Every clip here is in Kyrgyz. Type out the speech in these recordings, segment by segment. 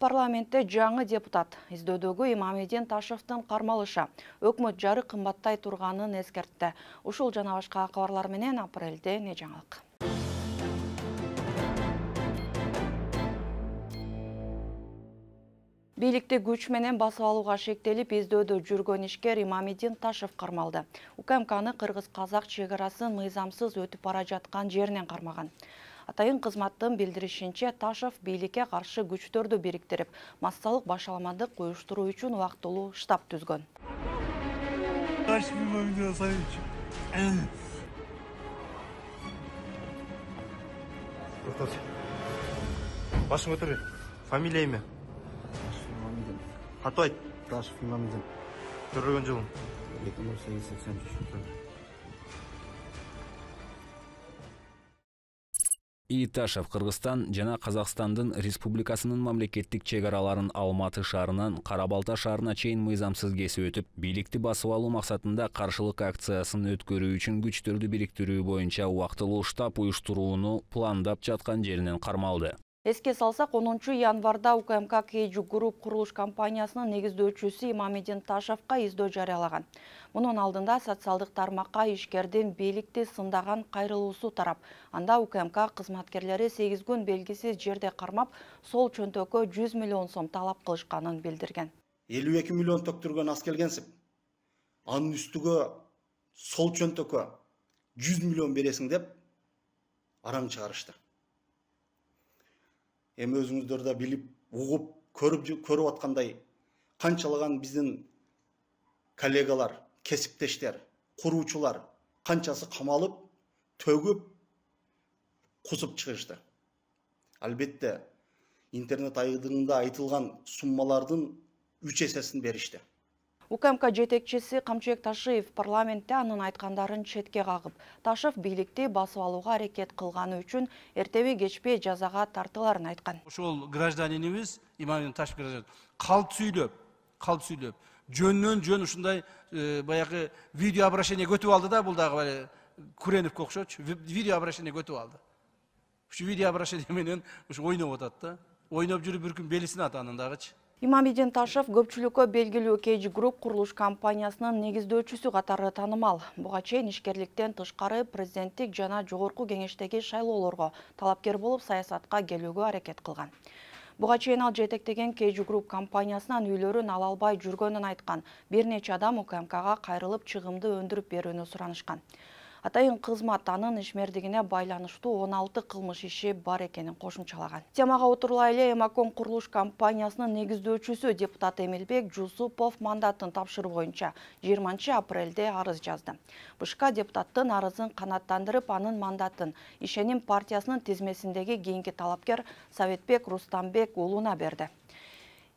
Парламентте жаңы депутат издөөдөгү Имамидин Ташевдин кармалышы өкмөт жары кымбаттай турганын эскертти. Ушул жана башка кабарлар менен апрелде не жаңылык. Бийликти күч менен басып алууга шектелип издөөдө жүргөн ишкер Имамидин Ташев кармалды. УКМКны кыргыз-казак чегарасын мыйзамсыз өтүп бара жаткан жеринен кармаган. Атайын кызматтын билдиришинче, Ташев бийликке каршы күчтөрдү бириктирип, массалык башаламандык уюштуруу үчүн убактылуу штаб түзгөн. Башың көтөр. Фамилия эме? Катуу айт. Ташев Имамидин. Төрөлгөн жылың? 1983. Ташев Кыргызстан жана Казакстандын республикасынын мамлекеттик чегараларын Алматы шаарынан Кара-Балта шаарына чейин мыйзамсыз кесип өтүп, бийликти басып алуу максатында каршылык акциясын өткөрүү үчүн күчтөрдү бириктирүү боюнча убактылуу штаб уюштурууну пландап жаткан жеринен кармалды. Эске салсак, 10 январда УКМК Кейджу Групп курулуш компаниясынын негиздөөчүсү Имамидин Ташевка издөө жарыялаган. Мунун алдында социалдык тармакка ишкердин бийликти сындаган кайрылуусу тарап, анда УКМК кызматкерлери 8 күн белгисиз жерде кармап, сол чөнтөккө 100 миллион сом талап кылышканын билдирген. 52 миллион төктүргөн ас келгенсип, анын үстүгө сол чөнтөккө 100 миллион бересиң деп араң чыгарышты. Эми өзүңүздөр да билип, угуп, көрүп аткандай, канчалаган биздин коллегалар, кесиптештер, куруучулар канчасы камалып, төгүп, кусуп чыгышты. Албетте, интернет айдыңында айтылган суммалардын 3 эсесин беришти. УКМК жетекчиси Камчыбек Ташиев парламентте анын айткандарын четке кагып, Ташев бийликти басып алууга аракет кылганы үчүн эртеби кечпей жазага тартыларын айткан. Ошол гражданинибиз Имамидин Ташев гражданин калп сүйлөп, жөндөн жөн ушундай баягы видео обращение көтүп алды да, бул дагы Куреновго окшочу видео обращение көтүп алды. Ушу видео обращение менен ушу ойноп атат да. Ойноп жүрүп бір күн белисин атанын дагычы. Имамидин Ташев көпчүлүккө белгилүү Кейджу Групп курулуш компаниясынын негиздөөчүсү катары таанымал. Буга чейин ишкерликтен тышкары президенттик жана жогорку кеңештеги шайлоолорго талапкер болуп саясатка келүүгө аракет кылган. Буга чейин ал жетектеген Кейджу Групп компаниясынан үйлөрүн ала албай жүргөнүн айткан. Бир нече адам УКМКга кайрылып чыгымды өндүрүп берүүнү суранышкан. Атайын кызмат анын ишмердигине байланыштуу 16 кылмыш иши бар экенин кошумчалаган. Темага отурулай эле Эмаком курулуш компаниясынын негиздөөчүсү депутат Эмилбек Жусупов мандатын тапшыруу боюнча 20 апрелде арыз жазды. БШК депутаттын арызын канааттандырып, анын мандатын Ишеним партиясынын тизмесиндеги кийинки талапкер Советбек Рустамбек уулуна берди.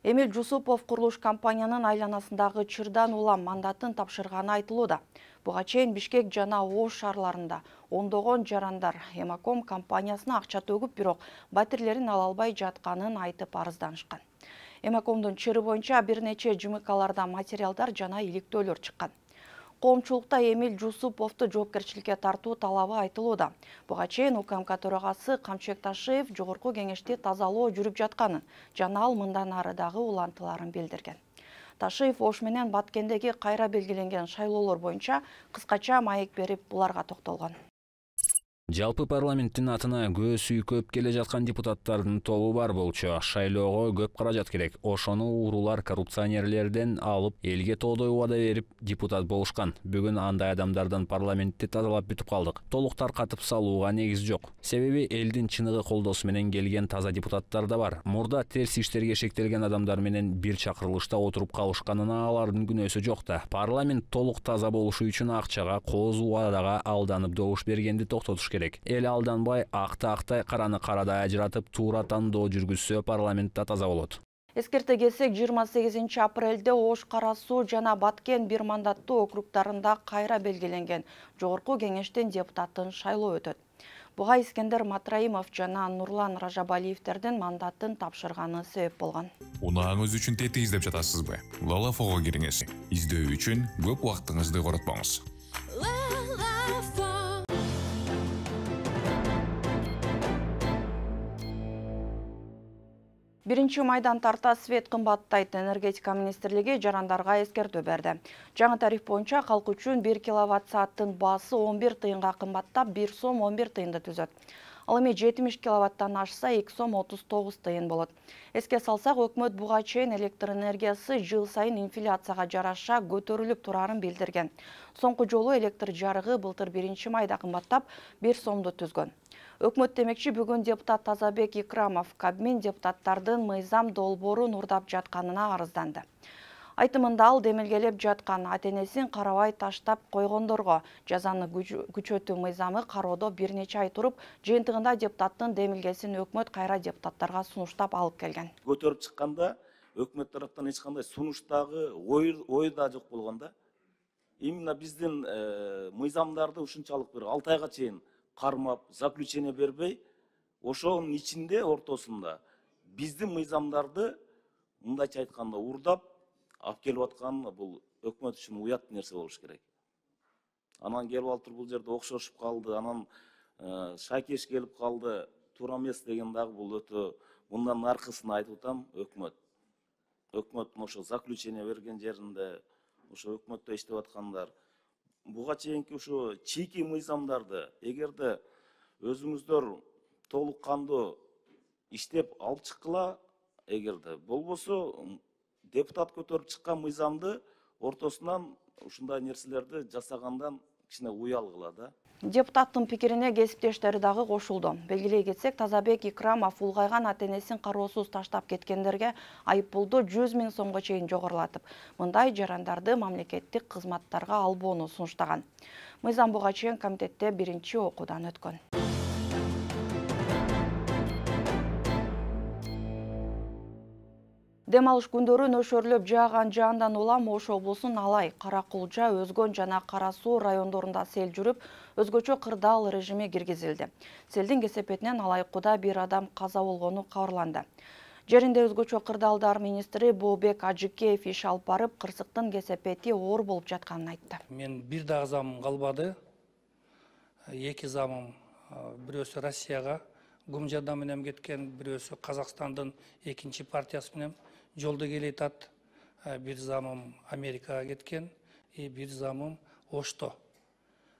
Эмил Жусупов курулуш компаниянын айланасындагы чырдан улам мандатын тапшырганы айтылууда. Буга чейин Бишкек жана Ош шаарларында ондогон жарандар Эмаком компаниясына акча төгүп, бирок батирлерин ала албай жатканын айтып арызданышкан. Эмакомдун чыры боюнча бир нече ЖМКларда материалдар жана иликтөөлөр чыккан. Коомчулукта Эмил Жусуповду жоопкерчиликке тартуу талабы айтылууда. Буга чейин УКМК төрагасы Камчыбек Ташиев жогорку кеңешти тазалоо жүрүп жатканын жана ал мындан ары дагы улантыларын билдирген. Ташиев Ош менен Баткендеги кайра белгиленген шайлоолор боюнча кыскача маек берип буларга токтолгон. Жалпы парламенттин атына көз үйкөп келе жаткан депутаттардын тобу бар болчу. Шайлоого көп каражат керек. Ошону уурулар коррупционерлерден алып, элге тоодой убада берип депутат болушкан. Бүгүн андай адамдардан парламентти тазалап бүтүп калдык. Толук таркатып салууга негиз жок. Себеби элдин чыныгы колдоосу менен келген таза депутаттар да бар. Мурда терс иштерге шектелген адамдар менен бир чакырылышта отуруп калышканына алардын күнөөсү жок да. Парламент толук таза болушу үчүн акчага, кооз убадага алданып добуш бергенди токтотуш керек. Эл алданбай, акты актай, караны карадай ажыратып, туура тандоо жүргүзсө парламентте таза болот. Эскерте кетсек, 28 апрелде Ош, Кара Суу жана Баткен бир мандаттуу округдарында кайра белгиленген жогорку кеңештин депутатын шайлоо өтөт. Буга Искендер Матраимов жана Нурлан Ражабалиевтердин мандатын тапшырганы себеп болгон. Унааңыз үчүн тети издеп жатасызбы? Лалафого кириңиз. Издөө үчүн көп убактыңызды коротпоңуз. 1 майдан тарта свет кымбаттайт. Энергетика министрлиги жарандарга эскертүү берди. Жаңы тариф боюнча калк үчүн 1 киловатт-сааттын баасы 11 тыйынга кымбаттап 1 сом 11 тыйынды түзөт. Ал эми 70 киловаттан ашса 2 сом 39 тыйын болот. Эске салсак, өкмөт буга чейин электр энергиясы жыл сайын инфляцияга жараша көтөрүлүп турарын билдирген. Соңку жолу электр жарыгы былтыр 1 майда кымбаттап 1 сомду түзгөн. Өкмөт демекчи, бүгүн депутат Тазабек Икрамов Кабмин депутаттардын мыйзам долбоорун урдап жатканына арызданды. Айтымында ал демилгелеп жаткан ата-энесин карабай таштап койгондорго жазаны күчөтүү мыйзамы кароодо бир нече ай туруп, жыйынтыгында депутаттын демилгесин өкмөт кайра депутаттарга сунуштап алып келген. Көтөрүп чыкканда өкмөт тараптан эч кандай сунуштагы ой да жок болгон да. Именно биздин мыйзамдарды ушунчалык бир 6 айга чейин кармап, заключение бербей, ошонун ичинде ортосунда биздин мыйзамдарды мындайча айтканда урдап алып келип аткан бул өкмөт үчүн уят нерсе болуш керек. Анан келип алып бул жерде окшошуп калды, анан шайкеш келип калды, туура эмес деген дагы бул өтө мындан аркысын айтып атам өкмөт. Өкмөттүн ошо заключение берген жеринде, ошо өкмөттө иштеп аткандар буга чейинки ошо чийки мыйзамдарды эгерде өзүңүздөр толук кандуу иштеп алып чыккыла, эгерде болбосо депутат көтөрүп чыккан мыйзамды ортосунан ушундай нерселерди жасагандан кичине уялгыла да. Депутаттын пикирине кесиптештери дагы кошулду. Белгилей кетсек, Тазабек Икрамов улгайган ата-энесин кароосуз таштап кеткендерге айыппулду 100 000 сомго чейин жогорулатып, мындай жарандарды мамлекеттик кызматтарга албоону сунуштаган. Мыйзам буга чейин комитетте 1-окуудан өткөн. Дем алыш күндөрү нөшөрлөп жааган жаандан улам Ош облусунун Алай, Каракулжа, Өзгөн жана Кара Суу райондорунда сел жүрүп, өзгөчө кырдаал режими киргизилди. Селдин кесепетинен Алайкуда бир адам каза болгону кабарланды. Жеринде өзгөчө кырдаалдар министри Бообек Ажыкеев иш алып барып, кырсыктын кесепети оор болуп жатканын айтты. Мен бир дагы замым калбады. Эки замым, бирөөсү Россияга гум жардам менен кеткен, бирөөсү Казакстандын экинчи партиясы менен жолдо келетат. Бир замым Америкага кеткен, бир замым Ошто.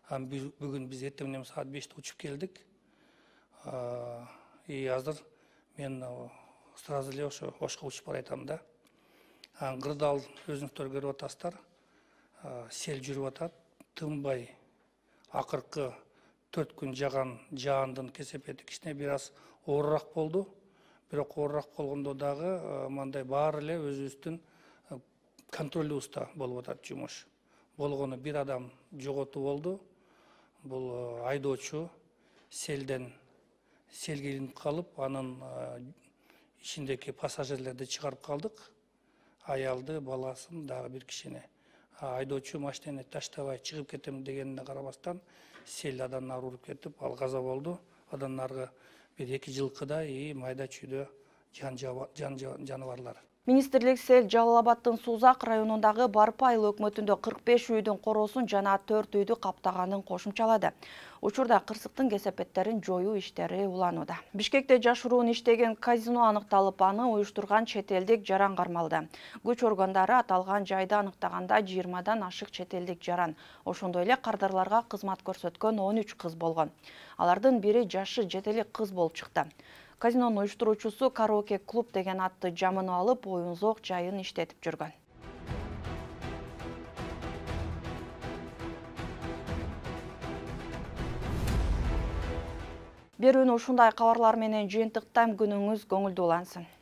Бүгүн биз эртең менен саат 5-те учуп келдик. Азыр мен сразу эле ошо Ошко учуп баратам да. Кырдаал өзүңүздөр көрүп атасыздар. Сел жүрүп атат, тынбай. Акыркы 4 күн жаган жаандын кесепети кичине бир аз оорураак болду. Бирок оорураак болгондо дагы мындай баары эле өзүбүздүн контролубузда болуп атат жумуш. Болгону бир адам жоготуу болду. Бул айдоочу селге илинип калып, анын ичиндеги пассажирлерди чыгарып калдык. Аялды, баласын дагы бир кишини. Айдоочу машинени таштабай чыгып кетем дегенине карабастан сел адан нары уруп кетип, ал каза болду. Адан наргы бир 2 жылкыдай майда чүйдө жаныбарлар. Министрлик сел Жалал Абадтын Сузак районундагы Барпайыл өкмөтүндө 45 үйдүн короосун жана 4 үйдү каптаганын кошумчалады. Учурда кырсыктын кесепеттерин жоюу иштери уланууда. Бишкекте жашыруун иштеген казино аныкталып, аны уюштурган чет элдик жаран кармалды. Күч органдары аталган жайды аныктаганда 20дан ашык чет элдик жаран, ошондой эле кардарларга кызмат көрсөткөн 13 кыз болгон. Алардын бири жашы жетелик кыз болуп чыкты. Казинонун уюштуруучусу караоке клуб деген атты жамынып алып, оюн-зоок жайын иштетип жүргөн. Берүүнү ушундай кабарлар менен жыйынтыктайм, күнүңүз көңүлдүү улансын.